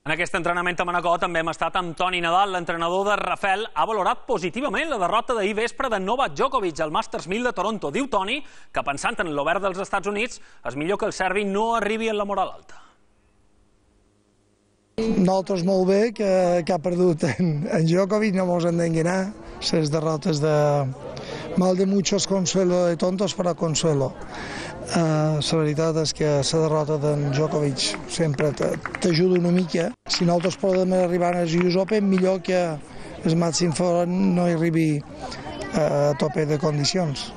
En aquest entrenament a Manacor també hem estat amb Toni Nadal. L'entrenador de Rafael ha valorat positivament la derrota d'ahir vespre de Novak Djokovic al Masters 1000 de Toronto. Diu Toni que, pensant en l'Obert dels Estats Units, és millor que el serbi no arribi en la moral alta. Nosaltres molt bé que ha perdut en Djokovic, no ens hem d'enganar. Les derrotes de mal de muchos consuelo, de tontos para consuelo. La veritat és que la derrota d'en Djokovic sempre t'ajuda una mica. Si nosaltres podem arribar als US Open, millor que el màxim fora no hi arribi a tope de condicions.